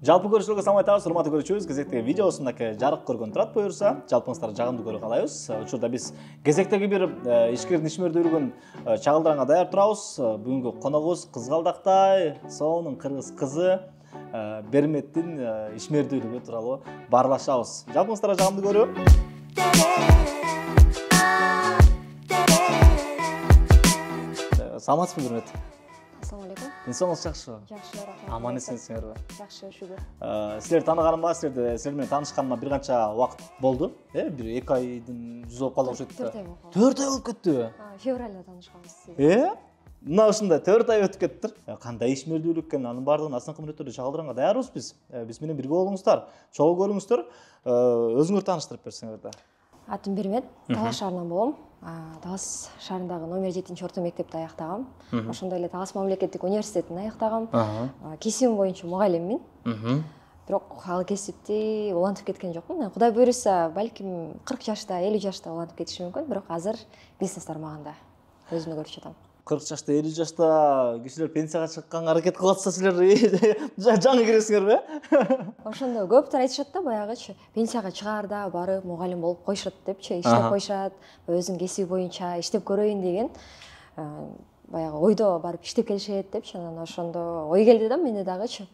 Жалпы көрүүчүлөргө салам айтабыз, урматтуу көрүүчүбүз. Кезектеги видеосундаки жарык көргөн турат буюрса, жалпыңыздарды жагымдуу көрө каалайбыз. Учурда биз кезектеги бир ишкердин ишмердүүлүгүн чагылдыранга даяр турабыз. Бүгүнкү коногубуз Кызгалдактай Соонун кыргыз кызы Берметтин ишмердүүлүгү тууралуу баарлашабыз. Жалпыңыздарды жагымдуу көрүү. Саламатсызбы, Бермет? Assalamu alaikum. Денсаулыгыңыз жакшыбы? Жакшы, рахмат. Аман эсенсиңерби? Жакшы, шүгүр. Силерди тааныганыма, силер менен таанышканыма бир канча убакыт болду. Бир 2 айдын жүзү болуп калды окшойт да. 4 ай болуп калды. 4 ай болуп кеттиби? Февралда таанышканбыз. Мына ушундай 4 ай өтүп кеттир. Кандай ишмердүүлүк экен, анын баардыгын астыңкы мүнөттөрдө чагылдыранга даярбыз биз. Биз менен бирге болуңуздар, чогуу көрүңүздөр. Өзүңөрдү тааныштырып берсеңер да. Атым Бермет, Талас шаарынан болом. Талас шаарындагы номер 7-орто мектепти аяктагам. Ошондой эле Талас мамлекеттик университетин аяктагам. Кесибим боюнча мугалиммин. Бирок ал кесипти улантып кеткен жокмун. Кудай буйруса, балким 40 жашта, 50 жашта улантып кетишим мүмкүн, бирок азыр бизнес тармагында өзүмдү көрүп жатам. 40 жашта, 50 жашта кишилер пенсияга чыкканга аракет кылып атса, силер жаңы киресиңерби? Ошондо көптөр айтышат да, баягычы пенсияга чыгаарда барып мугалим болуп койшот депчи, иштеп койшат, өзүнүн кесиби боюнча иштеп көрөйүн деген баягы ойдо барып иштеп келишет депчи. Анан ошондо ой келди да менде дагычы.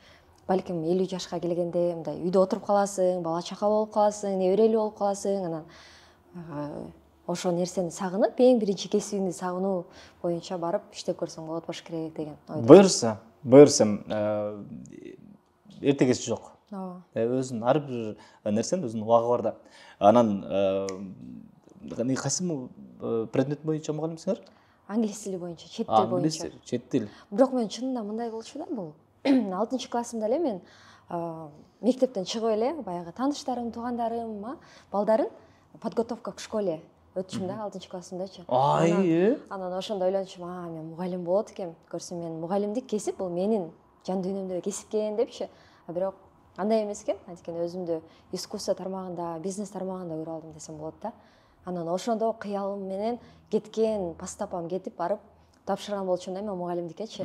Балким 50 жашка келгенде мындай үйдө отуруп каласың, бала чака болуп каласың, неберелүү болуп каласың, анан ошол нерсени сагынып, эң биринчи кесибиңди сагынуу боюнча барып иштеп көрсөң болот болуш керек деген ойдо. Буйрса, эрте кеч жок. Ооба. Өзүнүн ар бир нерсенин өзүнүн убагы бар да. Анан кайсы предмет боюнча мугалимсиңер? Англис тили боюнча, чет тил боюнча. Чет тил. Бирок мен чынында мындай болчу да, бул 6-классымда эле мен мектептен чыгып эле баягы тааныштарым, туугандарым, балдарын подготовка к школе өтчүм да 6-классымдачы. Анан ошондо ойлончум, мен мугалим болот экем. Көрсөм мен мугалимдик кесип бул менин жан дүйнөмдөгү кесип экен депчи. Бирок андай эмес экен. Анткени өзүмдү искусство тармагында, бизнес тармагында көрүп алдым десем болот да. Анан ошондо кыялым менен кеткен, пастапам кетип барып тапшырган болчумун да мен мугалимдикечи.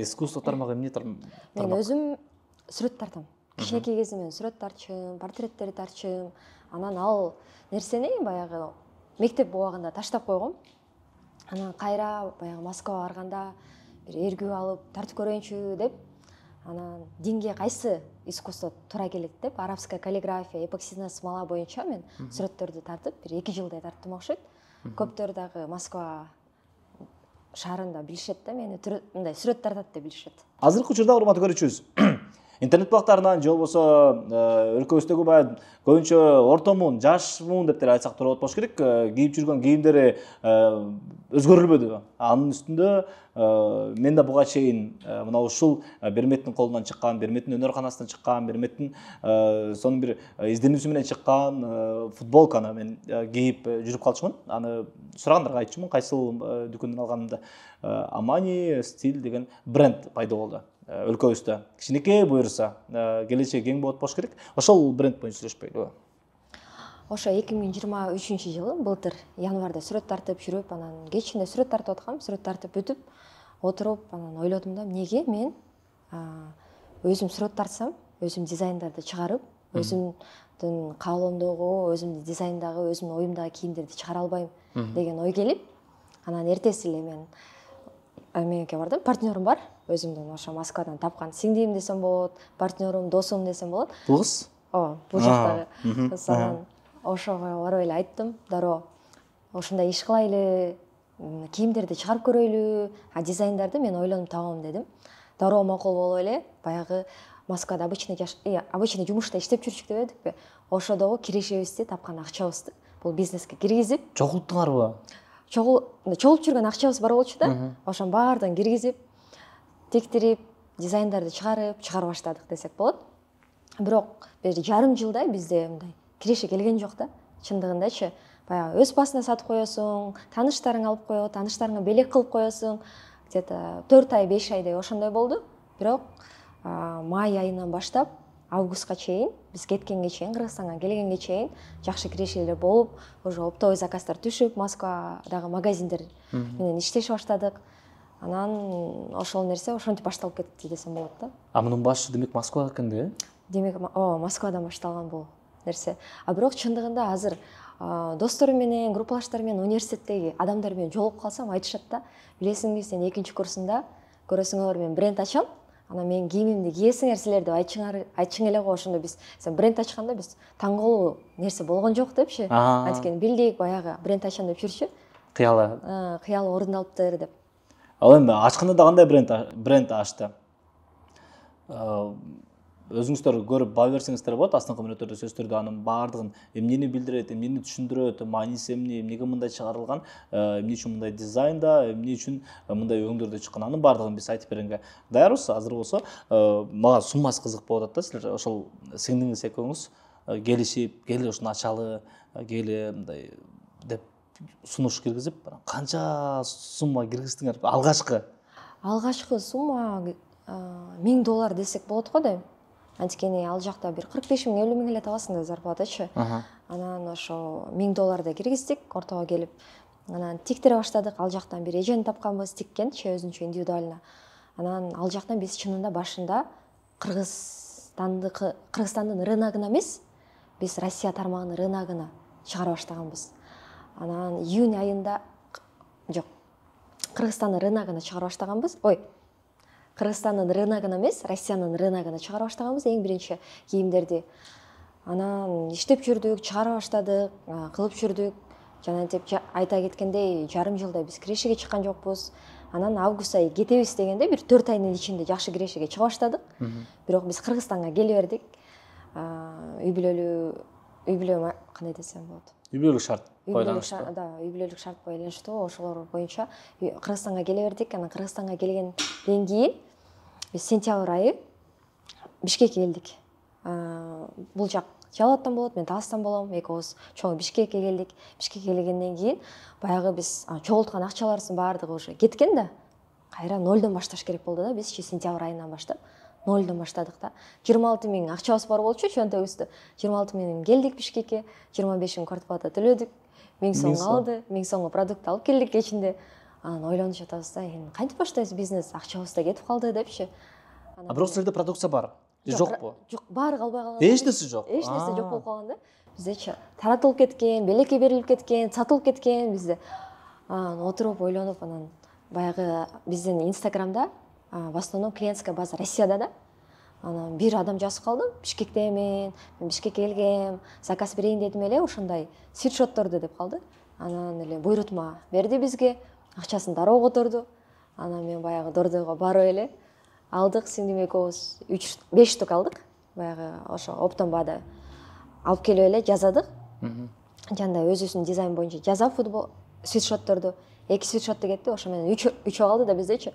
Искусство тармагы эмне тармак? Мен өзүм сүрөт тартам. Кичинекей кезимден сүрөт тарчым, портреттерди тарчым. Анан ал нерсени баягы мектеп убагында таштап койгом. Анан кайра баягы Москвага барганда бир эргүү алып тартып көрөйүнчү деп, анан динге кайсы искусство туура келет деп, арабская каллиграфия, эпоксидный смола боюнча мен сүрөттөрдү тартып, бир 2 жылдай тарттым окшойт. Көптөр дагы Москва шаарында билишет да, мени мындай сүрөт тартат деп билишет. Азыркы учурда урматтуу көрүүчүбүз, интернет булактарынан же болбосо өлкөбүздөгү баягы көбүнчө ортомун, жашмун деп деле айтсак туура болуш керек, кийип жүргөн кийимдери өзгөрүлбөдү. Анын үстүндө мен да буга чейин мына ушул Берметтин колунан чыккан, Берметтин өнөр-канасынан чыккан, Берметтин сонун бир изденүүсү менен чыккан футболканы мен кийип жүрүп калчумун. Аны сурагандарга айтчумун, кайсыл дүкөндөн алганымды. Amani стиль деген бренд пайда болду өлкөбүздө. Кичинекей буюрса, келечеги кең болот болуш керек. Ошол бренд боюнча сүйлөшпөйлүбү? Ошо 2023-жылы былтыр январда сүрөт тартып жүрүп, анан кечинде сүрөт тартып аткам, сүрөт тартып бүтүп, отуруп, анан ойлодум да, эмнеге мен өзүм сүрөт тартсам, өзүм дизайндарды чыгарып, өзүмдүн каалоомдогу, өзүмдүн дизайндагы, өзүмдүн оюмдагы кийимдерди чыгара албайм деген ой келип, анан эртеси эле мен меники бардым, партнерым бар, өзүмдүн ошо Москвадан тапкан сиңдим десем болот, партнерим, досум десем болот. Бул кыз? Ооба, бул жактагы. Анан ошого барып эле айттым, дароо ошондой иш кылайлы, кийимдерди чыгарып көрөйлү, дизайндарды мен ойлонуп табам дедим. Дароо макул болуп эле, баягы Москвада обычный жумушта иштеп жүрчүк деп эдикпи, ошодогу кирешебизди, тапкан акчабызды бул бизнеске киргизип, чогулттуңарбы? Чогулуп жүргөн акчабыз бар болчу да, ошонун баардыгын киргизип, тиктирип, дизайндарды чыгарып баштадык десек болот. Бирок бир жарым жылдай бизде мындай киреше келген жок да, чындыгындачы. Баягы өз басына сатып коесуң, тааныштарың алып коет, тааныштарыңа белек кылып коесуң. Где-то 4 ай, 5 айдай ошондой болду. Бирок май айынан баштап августка чейин, биз кеткенге чейин, Кыргызстанга келгенге чейин жакшы кирешелер болуп, уже оптовый заказдар түшүп, Москвадагы магазиндер менен иштеши баштадык. Анан ошол нерсе ошентип башталып кетти десем болот да. А мунун башы демек Москва экен да? Демек Москвадан башталган бул нерсе. А бирок чындыгында азыр досторум менен, группалаштарым менен, университеттеги адамдар менен жолугуп калсам айтышат да, билесиңби, сен 2-курсунда көрөсүңөр мен бренд ачам, анан менин кийимимди кийесиңер силер деп айтчың эле го. Ошондо биз сен бренд ачканда биз таң калуу нерсе болгон жок депчи. Анткени билдик баягы бренд ачам деп жүрчү. Кыялы орундалыптыр деп. Ал эми ачканда да кандай бренд ачты? Өзүңүздөр көрүп баа берсеңиздер болот. Астыңкы мүнөттөрдө сөздөрдө анын баардыгын эмнени билдирет, эмнени түшүндүрөт, мааниси эмне, эмнеге мындай чыгарылган, эмне үчүн мындай дизайнда, эмне үчүн мындай өңдөрдө чыккан, анын баардыгын биз айтып бергенге даярбыз. Азыр болсо мага суммасы кызык болуп атат да. Силер ошол сиңдиңиз экөөңүз келишип, кели ушуну ачалы, кели мындай деп сунуш киргизип, канча сумма киргиздиңер алгачкы? Алгачкы сумма $1000 десек болот го дейм. Анткени ал жакта бир 45 000, 50 000 эле табасың да зарплатачы. Анан ошо $1000 киргиздик ортого келип. Анан тиктире баштадык. Ал жактан бир эжени тапканбыз, тиккенчи өзүнчө индивидуально. Анан ал жактан биз чынында башында Кыргызстандын рыногуна эмес, биз Россия тармагынын рыногуна чыгара баштаганбыз. Анан июнь айында Кыргызстандын рыногуна чыгара баштаганбыз. Кыргызстандын рыногуна эмес, Россиянын рыногуна чыгара баштаганбыз эң биринчи кийимдерди. Анан иштеп жүрдүк, чыгара баштадык, кылып жүрдүк. Жана деп айта кеткендей, жарым жылда биз кирешеге чыккан жокпуз. Анан август айы кетебиз дегенде бир 4 айдын ичинде жакшы кирешеге чыга баштадык. Бирок биз Кыргызстанга келе бердик. Үй бүлө кандай десем болот? Үй бүлөлүк шарт байланыштуу. Да, үй бүлөлүк шарт байланыштуу. Ошолор боюнча Кыргызстанга келе бердик. Анан Кыргызстанга келгенден кийин биз сентябрь айы Бишкекке келдик. Бул жак Жалал Абадтан болот, мен Таластан болом. Экөөбүз чоң Бишкекке келдик. Бишкекке келгенден кийин баягы биз чогулткан акчаларыбыздын баардыгы уже кеткен да. Кайра нолдон башташ керек болду да. Биз сентябрь айынан баштап нолдон баштадык да. 26 000 акчабыз бар болчу чөнтөгүбүздө. 26 000 келдик Бишкекке, 25 000 квартплата төлөдүк. 1000 сом калды, 1000 сомго продукт алып келдик кечинде. Анан ойлонуп жатабыз да, эми кантип баштайбыз бизнес, акчабыз да кетип калды депчи. Бирок силерде продукция бар. Жокпу? Жок, баары калбай калган. Эч нерсе жок. Эч нерсе жок болуп калган да. Биздечи таратылып кеткен, белекке берилип кеткен, сатылып кеткен бизде. Отуруп ойлонуп, анан баягы биздин Инстаграмда в основном клиентская база Россияда да. Анан бир адам жазып калды, Бишкектемен, мен Бишкекке келгем, заказ берейин дедим эле, ошондой свитшотторду деп калды. Анан эле буйрутма берди бизге, акчасын дароо которду. Анан мен баягы дордойго барып эле алдык, сиңдим экөөбүз 3-5 штук алдык. Баягы ошо оптом баада алып келип эле жазадык. Жанда өзүбүздүн дизайн боюнча жазап футбол свитшотторду, 2 свитшотту кетти, ошо менен 3 калды да биздечи.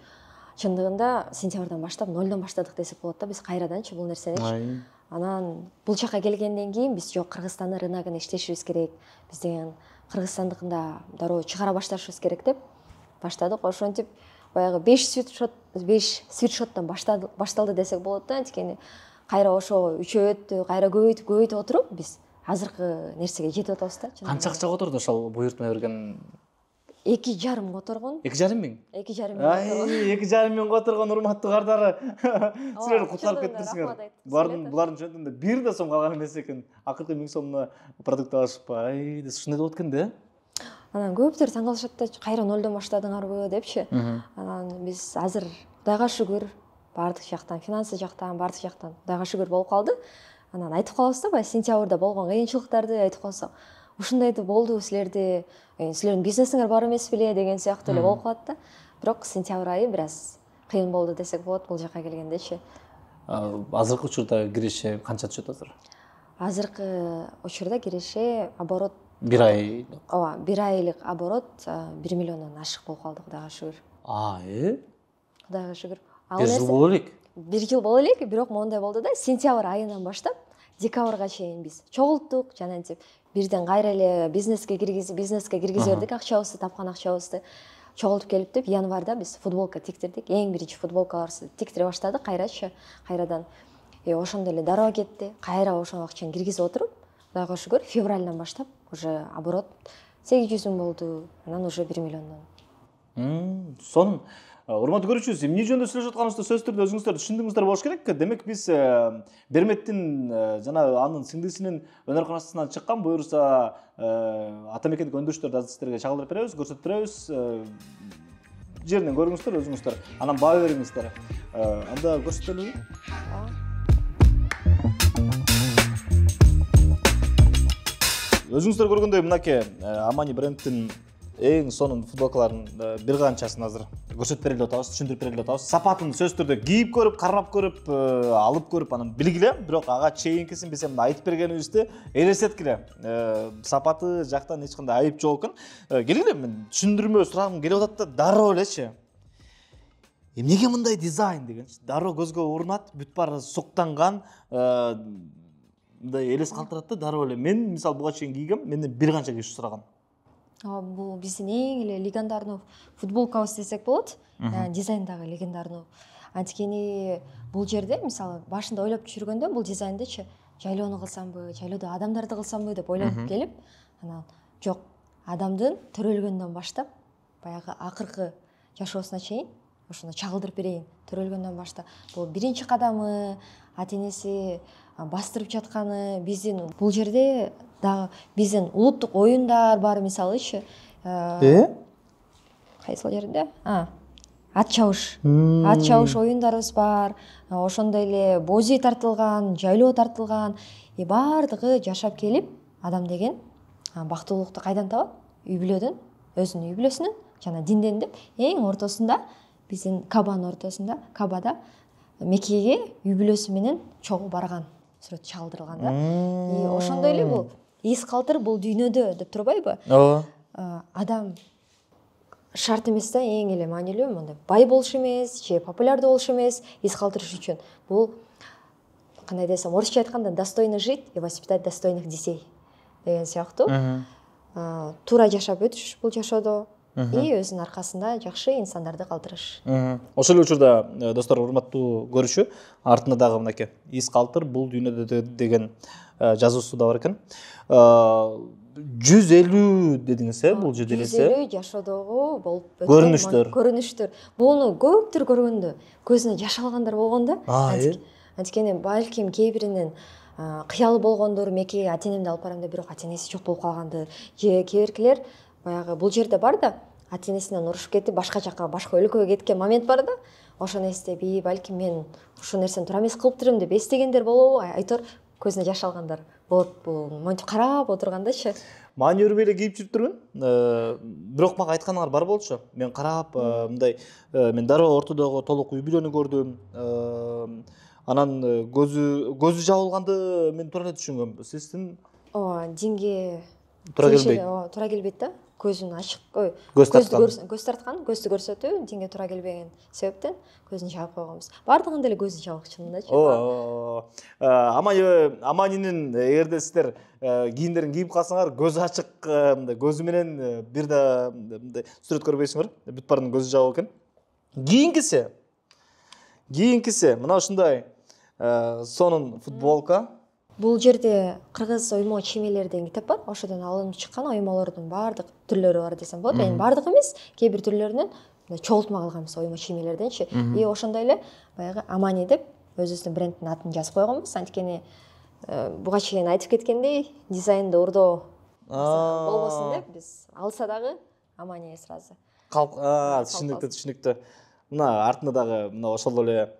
Чындыгында сентябрдан баштап нолдон баштадык десек болот да, биз кайраданчы бул нерсени. Анан бул жака келгенден кийин биз жок, Кыргызстандын рыногуна иштешибиз керек. Биз деген Кыргызстандыкында дароо чыгара башташыбыз керек деп баштадык. Ошентип баягы 5 свитшоттон башталды десек болот да. Анткени кайра ошо үчөөттү, кайра көбөйтүп отуруп биз азыркы нерсеге жетип атабыз да. Канча акча которду ошол буйрутма берген? 2,5 которгон. 2,5 миң? 2,5 миң. 2,5 миң которгон, урматтуу кардары. Силер кутлап кеттиңиздер. Булардын чөнтүндө бир да сом калган эмес экен. Акыркы 1000 сомуна продукт алышпы. Ушундай болот экен да. Анан көптөр таң калышат да, кайра нолдон баштадыңарбы депчи. Анан биз азыр Кудайга шүгүр, баардык жактан, финансы жактан, баардык жактан Кудайга шүгүр болуп калды. Анан айтып калабыз да, баягы сентябрда болгон кыйынчылыктарды айтып калсак, ушундайды болду силерде, силердин бизнесиңер бар эмес беле деген сыяктуу эле болуп калат да. Бирок сентябрь айы бир аз кыйын болду десек болот бул жака келгендечи. Азыркы учурда киреше канча түшөт азыр? Азыркы учурда киреше оборот 1 ай. Ооба, 1 айлык оборот 1 миллиондон ашык болуп калды, Кудайга шүгүр. Кудайга шүгүр. 1 жыл боло элек. 1 жыл боло элек, бирок моундай болду да, сентябрь айынан баштап декабрга чейин биз чогулттук, жанагынтип бирден кайра эле бизнеске киргизе бердик акчабызды, тапкан акчабызды. Чогултуп келип деп январда биз футболка тиктирдик. Эң биринчи футболкаларыбызды тиктире баштадык кайрадан. Ошондо эле дароо кетти. Кайра ошол акчаны киргизип отуруп, Кудайга шүгүр, февралдан баштап уже оборот 800 000 болду. Анан уже 1 миллиондон. Сонун Урматтуу көрүүчүбүз, эмне жөнүндө сүйлөшүп атканыбызды сөзсүз түрдө өзүңүздөр түшүндүңүздөр болуш керек. Демек биз Берметтин жана анын сиңдисинин өнөр канатынан чыккан, буюрса Атамекендик өндүрүштөрдү азыр сиздерге чагылдырып беребиз, көрсөтүп беребиз. Жеринен көрүңүздөр өзүңүздөр, анан баа бериңиздер. Анда көрсөтөлүбү? Өзүңүздөр көргөндөй мынакей Amani брендтин эң сонун футболкаларын бир канчасын азыр көрсөтүп берели деп атабыз, түшүндүрүп берели деп атабыз. Сапатын сөзсүз түрдө кийип көрүп, карап көрүп, алып көрүп, анан билгиле, бирок ага чейинкисин биз эми айтып бергенибизди элестеткиле. Сапаты жактан эч кандай айып жок экен. Келгиле, мен түшүндүрмө сурагым келип атат да, дароо элечи. Эмнеге мындай дизайн дегенчи? Дароо көзгө урунат, бүт баары суктанган, мындай элес калтырат да, дароо эле. Мен мисалы буга чейин кийгем, менден бир канча киши сураган. Бул биздин эң эле легендарный футболкабыз десек болот. Дизайндагы легендарный. Анткени бул жерде мисалы башында ойлоп жүргөндө бул дизайндычы жайлоону кылсамбы, жайлоодо адамдарды кылсамбы деп ойлонуп келип, анан жок, адамдын төрөлгөндөн баштап баягы акыркы жашоосуна чейин ошону чагылдырып берейин. Төрөлгөндөн баштап бул биринчи кадамы, ата-энеси бастырып жатканы, биздин бул жерде дагы биздин улуттук оюндар бар, мисалычы. Кайсыл жерде? Ат чабыш. Ат чабыш оюндарыбыз бар. Ошондой эле бози тартылган, жайлоо тартылган, баардыгы жашап келип, адам деген бактылуулукту кайдан табат? Үй бүлөдөн, өзүнүн үй бүлөсүнөн жана динден деп эң ортосунда биздин Кабанын ортосунда, Кабада Меккеге үй бүлөсү менен чогуу барган сүрөт чагылдырылган да. Ошондой эле бул из калтыр бул дүйнөдө деп турбайбы? Ооба. Адам шарт эмес да, эң эле маанилүү мындай бай болуш эмес, же популярдуу болуш эмес, из калтырыш үчүн. Бул кандай десем, орусча айтканда достойно жить и воспитать достойных детей деген сыяктуу. Туура жашап өтүш бул жашоодо и өзүнүн аркасында жакшы инсандарды калтырыш. Ошол эле учурда достор, урматтуу көрүүчү, артында дагы мынакей из калтыр бул дүйнөдө деген жазуусу да бар экен. 150 дедиңиз, бул жерде элесе 150 жашоодогу болуп көрүнүштөр. Буну көптүр көргөндө көзүнө жаш алгандар болгондо. Анткени балким кээ биринин кыялы болгондур, Меккеге ата-энемди алып барам деп, бирок ата-энеси жок болуп калгандыр. Же кээ биркилер баягы бул жерде бар да, ата-энесинен урушуп кетип, башка жакка, башка өлкөгө кеткен момент бар да. Ошону эстеп, балким мен ушул нерсени туура эмес кылыптырмын деп эстегендер болобу? Айтор көзүнө жаш алгандар болот. Бул монтип карап отургандачы. Маани өрбөй эле кийип жүрүптүрмүн. Бирок мага айтканыңар бар болчу. Мен карап, мындай мен дароо ортодогу толук үй бүлөнү көрдүм. Анан көзү жабылганды мен туура эле түшүнгөм. Сиздин динге туура келбейт. Туура келбейт да. Көзүн ачык, көз тарткан, көздү көрсөтүү динге туура келбеген себептен көзүн жаап койгонбуз. Бардыгында эле көзү жабык чынындачы. Аманинин эгерде сиздер кийимдерин кийип калсаңар, көзү ачык, мындай көзү менен бир да мындай сүрөт көрбөйсүңөр. Бүт баарынын көзү жабык экен. Кийинкиси мына ушундай сонун футболка. Бул жерде кыргыз оймо чиймелер деген китеп бар. Ошодон алынып чыккан оймолордун баардык түрлөрү бар десем болот. Эми баардыгы эмес, кээ бир түрлөрүнөн чогултма кылганбыз оймо чиймелерденчи. И ошондой эле баягы Amani деп өзүбүздүн брендтин атын жазып койгонбуз. Анткени буга чейин айтып кеткендей, дизайнды урдоо болбосун деп биз алса дагы Amani сразу. Түшүнүктүү. Мына артында дагы мына ошол эле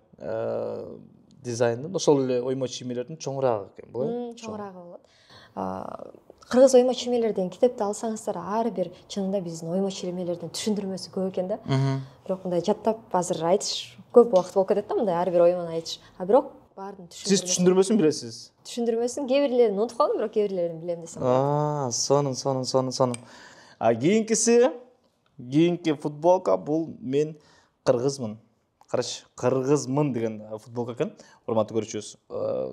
дизайндын, ошол эле оймо чиймелердин чоңураагы экен бул. Чоңураагы болот. Кыргыз оймо чиймелер деген китепти алсаңыздар, ар бир чынында биздин оймо чиймелердин түшүндүрмөсү көп экен да. Бирок мындай жаттап азыр айтыш көп убакыт болуп кетет да, мындай ар бир оймону айтыш. Бирок баардын Сиз түшүндүрмөсүн билесиз. Түшүндүрмөсүн кээ бирлерин унутуп калдым, бирок кээ бирлерин билем десем болот. Сонун. Кийинки футболка бул мен кыргызмын. Караш, кыргызмын деген футболка экен. Урматтуу көрүүчүбүз,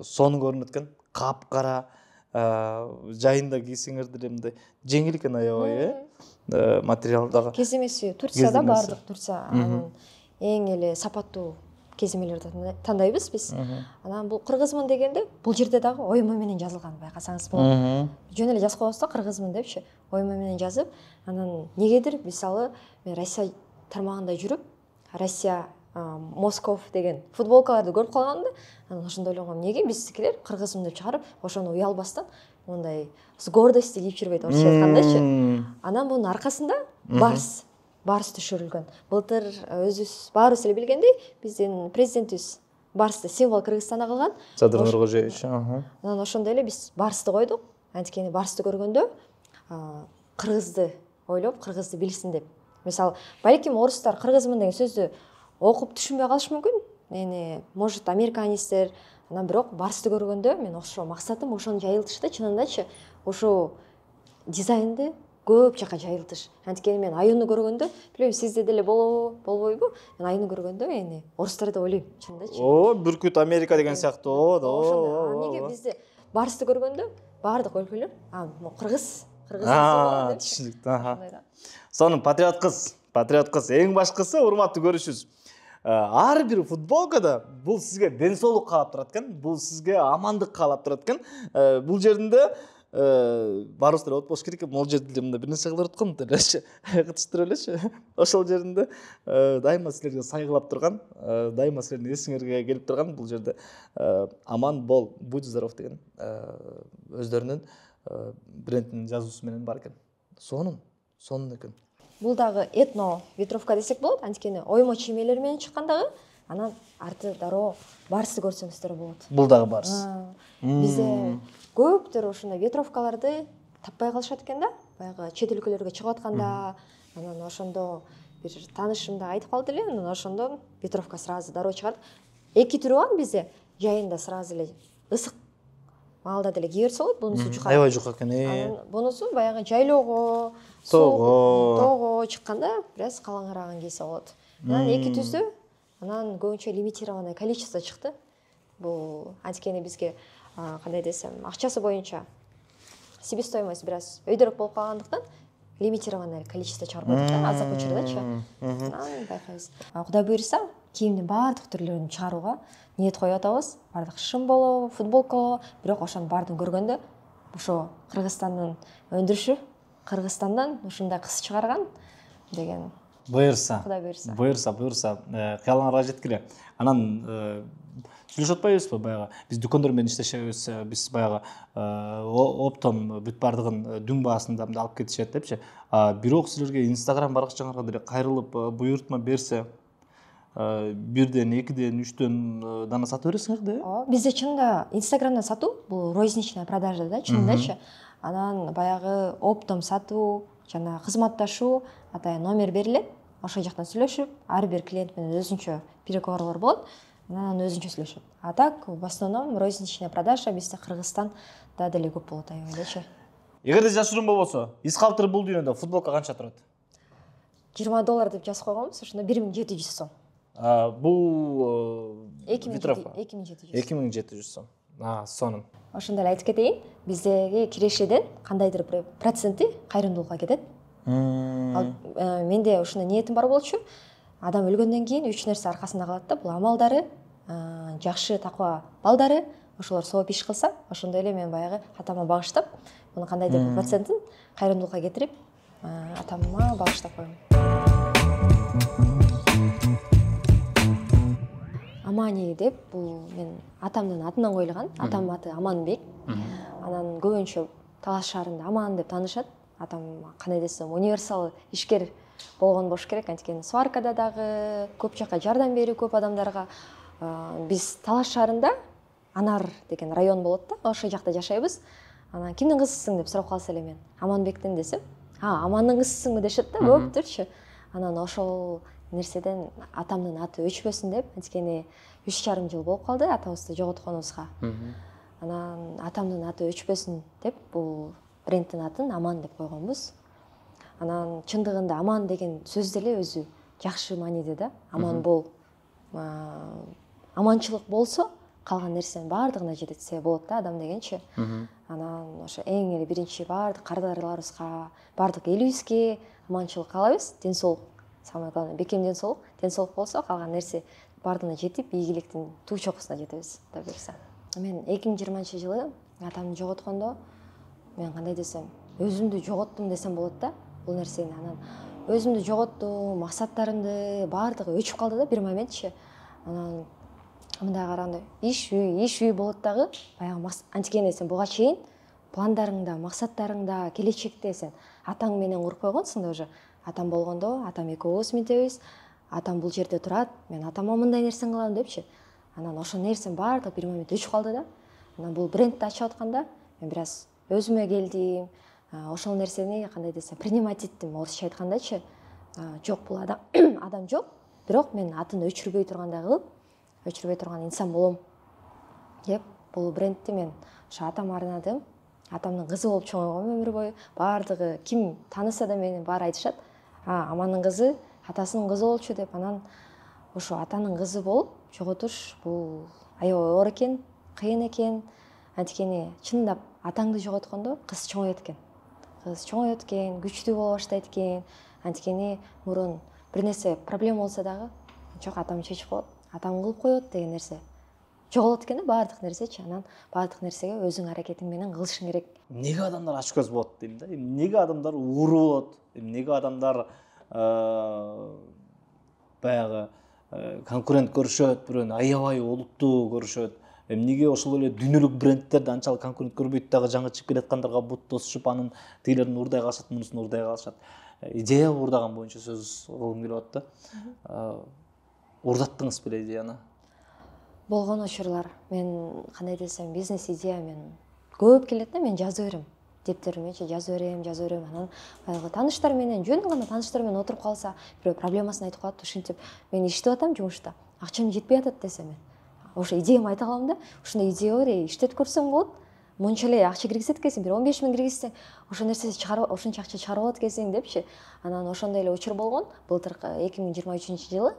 сонун көрүнөт экен. Капкара, жайында кийсеңердер мындай жеңил экен аябай, материал дагы. Кеземеси Турцияда бардык, Турция эң эле сапаттуу кеземелерди тандайбыз биз. Анан бул кыргызмын дегенде, бул жерде дагы оймо менен жазылган, байкасаңыз болот. Жөн эле жазып койбосто кыргызмын депчи, оймо менен жазып, анан негедир мисалы мен Россия тармагында жүрүп, Россия Москов деген футболкаларды көрүп калгам да, анан ошондо ойлогом, эмнеге биздикилер кыргызмын деп чыгарып, ошону уялбастан мындай с гордостью кийип жүрбөйт, орусча айткандачы. Анан мунун аркасында барс түшүрүлгөн. Былтыр өзүбүз баарыбыз эле билгендей, биздин президентибиз барсты символ Кыргызстана кылган. Садыр Нуркожоевич. Анан ошондой эле биз барсты койдук. Анткени барсты көргөндө кыргызды ойлоп, кыргызды билсин деп. Мисалы, балким орустар кыргызмын деген сөздү окуп түшүнбөй калышы мүмкүн. Эми, может, американецтер, анан бирок барсты көргөндө мен ошо максатым ошону жайылтыш да, чынындачы. Ошо дизайнды көп жака жайылтыш. Анткени мен Аюну көргөндө, билбейм, сизде деле болбойбу? Мен Аюну көргөндө эми орустарды ойлойм, чынындачы. Бүркүт Америка деген сыяктуу. Неге бизде барсты көргөндө баардык өлкөлөр, кыргыз түшүнүктүү. Сонун патриот кыз. Эң башкысы, урматтуу көрүүчүбүз, ар бир футболкада бул сизге ден соолук каалап турат экен, бул сизге амандык каалап турат экен. Бул жеринде баарыбыз деле болуш керек экен. Могул жерде мындай бир нерсе кылып аткан делечи, кытыштырып элечи. Ошол жеринде дайыма силерге сайгылап турган, дайыма силердин эсиңерге келип турган бул жерде аман бол, будь здоров деген өздөрүнүн брендинин жазуусу менен бар экен. Сонун экен. Бул дагы этно ветровка десек болот, анткени оймо чиймелер менен чыккан дагы, анан арты дароо барсты көрсөңүздөр болот. Бул дагы барс. Бизде көптөр ошондой ветровкаларды таппай калышат экен да, баягы чет өлкөлөргө чыгып атканда, анан ошондо бир таанышым да айтып калды эле, анан ошондон ветровка сразу дароо чыгарды. Эки түрү бар бизде, жайында сразу эле ысык маалда деле кие берсе болот, бунусу жука. Аябай жука экен. Анан бунусу баягы жайлоого, тоого чыкканда бир аз калаңырааган кийсе болот. Анан эки түздө, анан көбүнчө лимитированный количество чыкты. Бул анткени бизге кандай десем, акчасы боюнча себестоимость бир аз өйдөрөөк болуп калгандыктан лимитированный количество чыгарып койдук да, азыркы учурдачы. Анан байкайбыз. Кудай буйруса, кийимдин баардык түрлөрүн чыгарууга ниет коюп атабыз. Баардык шым болобу, футболка, бирок ошонун баардыгын көргөндө ошо Кыргызстандын өндүрүшү, Кыргызстандан ушундай кыз чыгарган деген. Буйруса. Кудай буйруса. Буйруса. Кыялыңарга жеткиле. Анан сүйлөшүп атпайбызбы баягы? Биз дүкөндөр менен иштешебиз, биз баягы оптом бүт баардыгын дүң баасында алып кетишет депчи. Бирок силерге Instagram баракчаңарга деле кайрылып буйрутма берсе, бирден, экиден, үчтөн дана сатып бересиңер да? Ооба, бизде чынында Instagramдан сатуу, бул розничная продажа да, чынындачы. Анан баягы оптом сатуу, жана кызматташуу, атайын номер берилет. Ошол жактан сүйлөшүп, ар бир клиент менен өзүнчө переговорлор болот. Анан өзүнчө сүйлөшөт. А так, в основном розничная продажа бизде Кыргызстанда деле көп болот аябайлычы. Эгерде жашыруун болбосо, из калтыры бул дүйнөдө футболка канча турат? $20 деп жазып койгонбуз, ошондо 1700 сом. Бул ветровка 2700 сом. Сонун. Ошондой эле айтып кетейин, биздеги кирешеден кандайдыр бир проценти кайрымдуулукка кетет. Менде ушундай ниетим бар болчу. Адам өлгөндөн кийин 3 нерсе аркасында калат да, бул амалдары, жакшы таква балдары, ошолор сооп иш кылса, ошондой эле мен баягы атама багыштап, мунун кандайдыр бир процентин кайрымдуулукка кетирип, атама багыштап коем. Амани деп, бул мен атамдын атынан коюлган. Атамдын аты Аманбек. Анан көбүнчө Талас шаарында Аман деп таанышат. Атам кандай десем, универсал ишкер болгон болуш керек, анткени сваркада дагы көп жака жардам берүү көп адамдарга. Биз Талас шаарында Анар деген район болот да, ошол жакта жашайбыз. Анан кимдин кызысың деп сурап калса эле мен Аманбектин десем, Амандын кызысыңбы дешет да, көптүрчү. Анан ошол нерседен атамдын аты өчпөсүн деп, анткени 3,5 жыл болуп калды атабызды жоготконубузга. Анан атамдын аты өчпөсүн деп, бул брендтин атын Аман деп койгонбуз. Анан чындыгында Аман деген сөз деле өзү жакшы мааниде да. Аман бол. Аманчылык болсо, калган нерсенин баардыгына жетсе болот да адам дегенчи. Анан ошо эң эле биринчи баардык кардарларыбызга, баардык элибизге аманчылык каалайбыз, ден соолук. Самое главное, бекем ден соолук болсо, калган нерсе баардыгына жетип, ийгиликтин туу чокусуна жетебиз, да берсе. Мен 2020-жылы атамды жоготкондо, мен кандай десем, өзүмдү жоготтум десем болот да, бул нерсени. Анан өзүмдү жоготтум, максаттарымды баардыгы өчүп калды да бир моментчи. Анан мындай караганда иш үй болот дагы баягы антикени сен буга чейин пландарыңда, максаттарыңда, келечекте сен атаң менен куруп койгонсуң да уже. Атам болгондо, атам экөөбүз мынтебиз, атам бул жерде турат, мен атама мындай нерсени кылам депчи. Анан ошол нерсенин баардыгы бир момент өчүп калды да. Анан бул брендти ачып атканда мен бир аз өзүмө келдим. Ошол нерсени кандай десем, принимать эттим, орусча айткандачы. Жок, бул адам жок, бирок мен атын өчүрбөй тургандай кылып, өчүрбөй турган инсан болом деп бул брендти мен ошо атама арнадым. Атамдын кызы болуп чоңойгом өмүр бою. Баардыгы ким тааныса да мени баары айтышат, Амандын кызы атасынын кызы болчу деп. Анан ошо атанын кызы болуп жоготуш бул аябай оор экен, кыйын экен. Антикени чындап атаңды жоготкондо кыз чоңоет экен. Кыз чоңоет экен, күчтүү боло баштайт экен. Антикени мурун бир нерсе проблема болсо дагы жок, атам чечип коет, атам кылып коет деген нерсе жоголот экен да, баардык нерсечи. Анан баардык нерсеге өзүң аракетиң менен кылышың керек. Эмнеге адамдар ач көз болот дейм да. Эмнеге адамдар ууру болот? Эмнеге адамдар баягы конкурент көрүшөт, бирөөнү аябай олуттуу көрүшөт? Эмнеге ошол эле дүйнөлүк брендтерди анчалык конкурент көрбөйт дагы жаңы чыгып келаткандарга бут тосушуп, анын тигилерин уурдай калышат, мунусун уурдай калышат. Идея уурдаган боюнча сөз кылгым келип атты. Уурдаттыңыз беле идеяны? Болгон учурлар. Мен кандай десем, бизнес идея мен көп келет да, мен жазып берем. Дептеримечи жазып берем. Анан баягы тааныштар менен, жөн гана тааныштар менен отуруп калса, бирөө проблемасын айтып калат, ушинтип мен иштеп атам жумушта. Акчам жетпей атат десем мен. Ошо идеямды айта калам да, ушундай идея бар, иштетип көрсөң болот. Монча эле акча киргизет экенсиң, бир 15 000 киргизсең, ошол нерсени чыгарып, ошончо акча чыгарып алат экенсиң депчи. Анан ошондой эле учур болгон. Былтыркы 2023-жылы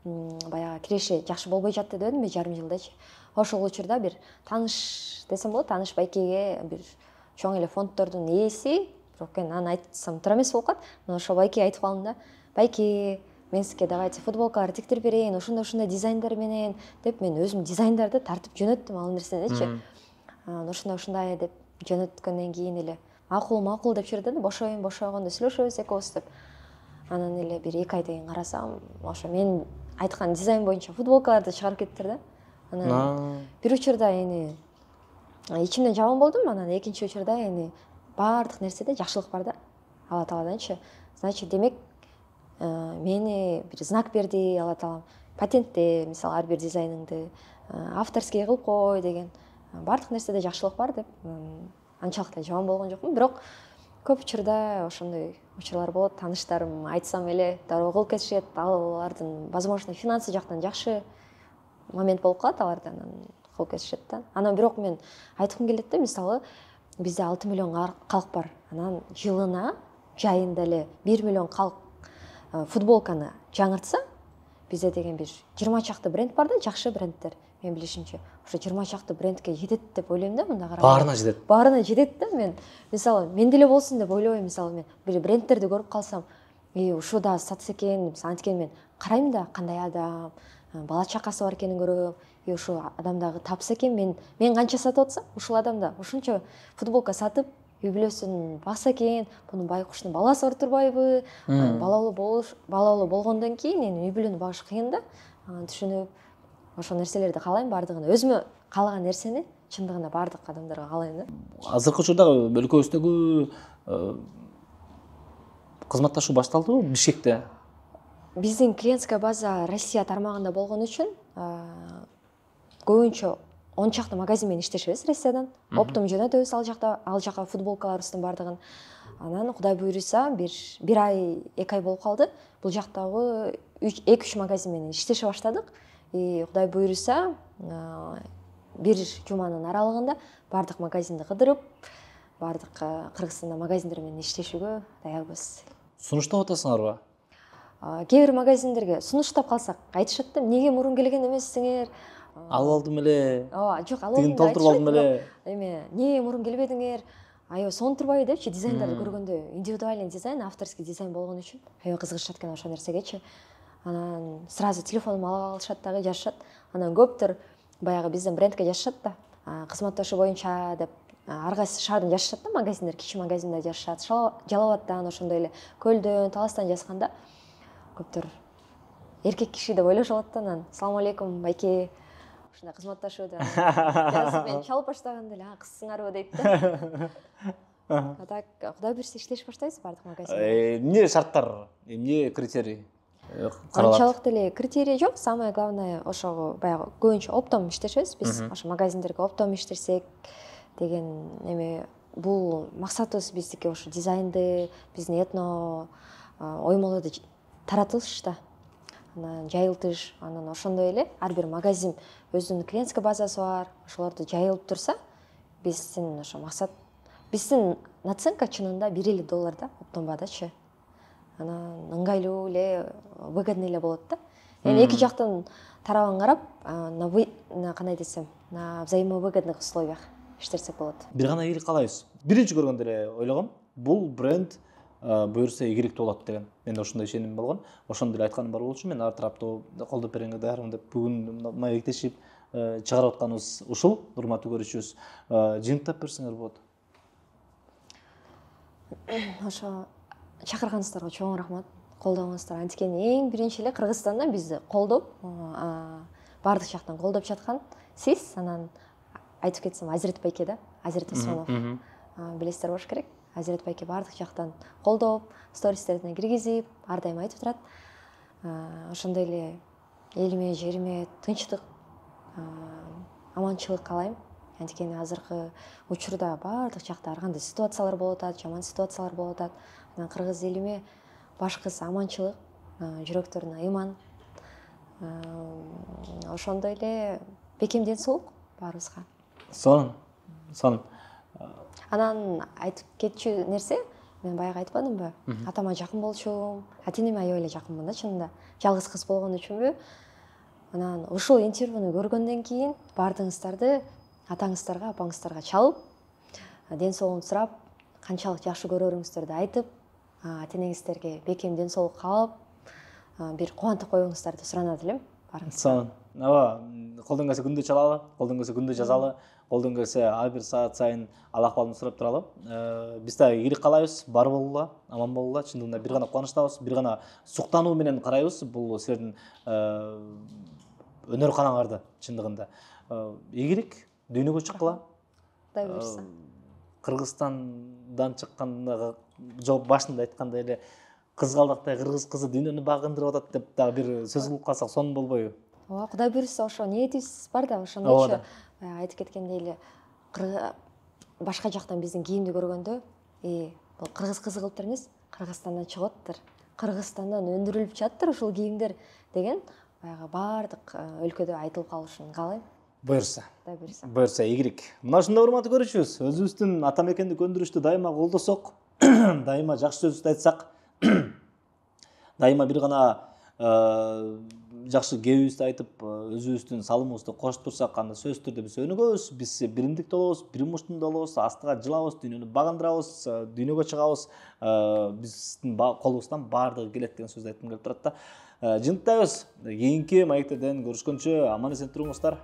баягы киреше жакшы болбой жатты дебедимби, жарым жылдачы. Ошол учурда бир тааныш десем болот, тааныш байкеге бир чоң эле фонддордун ээси, бирок анан айтсам туура эмес болуп калат. Мен ошол байкеге айтып калдым да, байке, мен сизге давайте футболкалар тиктирип берейин, ошондой дизайндар менен деп мен өзүм дизайндарды тартып жөнөттүм ал нерседечи. Ушундай деп жөнөткөндөн кийин эле макул деп жүрдү да, бошойгондо сүйлөшөбүз экөөбүз деп. Анан эле бир 2 айдан кийин карасам, ошо мен айткан дизайн боюнча футболкаларды чыгарып кетиптир да. Анан бир учурда эми ичимден жаман болдум, анан экинчи учурда эми баардык нерседе жакшылык бар да, Алла Тааладанчы. Значит, демек мени бир знак берди Алла Таалам. Патентте, мисалы, ар бир дизайныңды авторский кылып кой деген. Баардык нерседе жакшылык бар деп анчалык да жаман болгон жокмун. Бирок көп учурда ошондой учурлар болот. Тааныштарым айтсам эле дароо кылып кетишет. Алардын, возможно, финансы жактан жакшы момент болуп калат аларда, анан кылып кетишет да. Анан бирок мен айткым келет да, мисалы, бизде 6 миллион калк бар. Анан жылына жайында эле 1 миллион калк футболканы жаңыртса, бизде деген бир 20 чакты бренд бар да, жакшы брендтер. Мен билишимче, ошо 20 чакты брендке жетет деп ойлойм да, мында караганда. Баарына жетет. Баарына жетет да. Мен мисалы, мен деле болсун деп ойлобойм. Мисалы, мен бир брендтерди көрүп калсам, ушу да сатса экен, антикен мен карайм да, кандай адам, бала чакасы бар экенин көрөм. Ушу адам дагы тапса экен, мен канча сатып атсам, ушул адам да ушунча футболка сатып, үй бүлөсүн бакса экен, бунун байкуштун баласы бар турбайбы? Балалуу болгондон кийин эми үй бүлөнү багыш кыйын да. Түшүнүп, ошол нерселерди каалайм, баардыгын. Өзүмө каалаган нерсени чындыгында баардык адамдарга каалайм да. Азыркы учурда өлкөбүздөгү кызматташуу башталдыбы Бишкекте? Биздин клиентская база Россия тармагында болгон үчүн көбүнчө 10 чакты магазин менен иштешебиз Россиядан. Оптом жөнөтөбүз ал жака футболкаларыбыздын баардыгын. Анан Кудай буйруса бир ай, 2 ай болуп калды. Бул жактагы 2-3 магазин менен иштеше баштадык. Кудай буйруса бир жуманын аралыгында баардык магазинди кыдырып, баардык Кыргызстанда магазиндер менен иштешүүгө даярбыз. Сунуштап атасыңарбы? Кээ бир магазиндерге сунуштап калсак айтышат да, эмнеге мурун келген эмессиңер? Алып алдым эле. Жок, алып алдым. Тигин толтуруп алдым эле. Эми эмне мурун келбедиңер? Аябай сонун турбайбы депчи, дизайндарды көргөндө индивидуальный дизайн, авторский дизайн болгон үчүн аябай кызыгышат экен ошол нерсегечи. Анан сразу телефонумду ала алышат дагы, жазышат. Анан көптөр баягы биздин брендке жазышат да, кызматташуу боюнча деп ар кайсы шаардын жашашат да, магазиндер, кичи магазиндер жашашат. Жалал Абадтан, ошондой эле Көлдөн, Таластан жазганда көптөр эркек киши деп ойлошуп алат да. Анан салам алейкум байке, ушундай кызматташуу деп жазып мен чалып баштаганда эле кызсыңарбы дейт да. А так Кудай буюрса иштеш баштайбыз бардык магазинде. Эмне шарттар, эмне критерий Анчалык деле критерий жок. Самое главное ошого баягы көбүнчө оптом иштешебиз биз. Ошо магазиндерге оптом иштесек деген эме, бул максатыбыз биздики ошо дизайнды, биздин этно оймолорду таратыш да. Анан жайылтыш, анан ошондой эле ар бир магазин өзүнүн клиентский базасы бар. Ошолорду жайылып турса, биздин ошо максат, биздин наценка чынында $1 да, оптом баадачы. Анан ыңгайлуу эле, выгодный эле болот да. Эми эки жактын тарабын карап, кандай десем, на взаимовыгодных условиях иштесек болот. Бир гана ийгилик каалайбыз. Биринчи көргөндө эле ойлогом, бул бренд буюрса ийгиликтүү болот деген. Менде ошондой ишеним болгон. Ошондо эле айтканым бар болчу. Мен ар тараптуу колдоп бергенге даярмын деп бүгүн маектешип чыгарып атканыбыз ушул, урматтуу көрүүчүбүз. Жыйынтыктап берсеңер болот. Ошо чакырганыңыздарга чоң рахмат. Колдооңуздар. Анткени эң биринчи эле Кыргызстанда бизди колдоп, бардык жактан колдоп жаткан сиз. Анан айтып кетсем, Азирет байке да, Азирет Усманов. Билесиздер болуш керек. Азирет байке бардык жактан колдоп, стористерине киргизип, ар дайым айтып турат. Ошондой эле элиме, жериме тынчтык, аманчылык каалайм. Анткени азыркы учурда бардык жакта ар кандай ситуациялар болуп атат, жаман ситуациялар болуп атат. Анан кыргыз элиме башкысы аманчылык, жүрөктөрүнө ыйман. Ошондой эле бекем ден соолук баарыбызга. Сонун. Анан айтып кетчү нерсе, мен баягы айтпадымбы? Атама жакын болчумун, ата-энеме аябай эле жакынмын да чынында. Жалгыз кыз болгон үчүнбү? Анан ушул интервьюну көргөндөн кийин бардыгыңыздарды атаңыздарга, апаңыздарга чалып, ден соолугун сурап, канчалык жакшы көрөрүңүздөрдү айтып, ата-энеңиздерге бекем ден соолук каалап, бир кубантып коюңуздарды суранат элем. Сонун. Ооба, колдон келсе күндө чалалы, колдон келсе күндө жазалы, колдон келсе ар бир саат сайын ал акыбалын сурап туралы. Биз да ийгилик каалайбыз, бар болгула, аман болгула. Чындыгында бир гана кубанычтабыз, бир гана суктануу менен карайбыз бул силердин өнөр канаңарды чындыгында. Ийгилик, дүйнөгө чыккыла. Кудай буйрса. Кыргызстандан чыкканда жооп башында айткандай эле кызгалдактай кыргыз кызы дүйнөнү багындырып атат деп дагы бир сөз кылып калсак сонун болбойбу? Ооба, Кудай буйрса ошо ниетибиз бар да, ошондойчу айтып кеткендей эле башка жактан биздин кийимди көргөндө, бул кыргыз кызы кылыптыр эмес, Кыргызстандан чыгып атыптыр, Кыргызстандан өндүрүлүп жатыптыр ушул кийимдер деген баягы бардык өлкөдө айтылып калышын каалайм. Буйрса. Кудай буйрса. Буйрса ийгилик. Мына ушундай урматтуу көрүүчүбүз, өзүбүздүн ата мекенди көндүрүштү дайыма колдосок, дайыма жакшы сөздү айтсак, дайыма бир гана жакшы кебибизди айтып, өзүбүздүн салымыбызды кошуп турсак, анда сөзсүз түрдө биз өнүгөбүз, биз биримдикте болобуз, бир муштунда болобуз, астыга жылабыз, дүйнөнү багындырабыз, дүйнөгө чыгабыз, биздин колубуздан баардыгы келет деген сөздү айткым келип турат да. Жыйынтыктайбыз. Кийинки маектерден көрүшкөнчө аман эсен туруңуздар.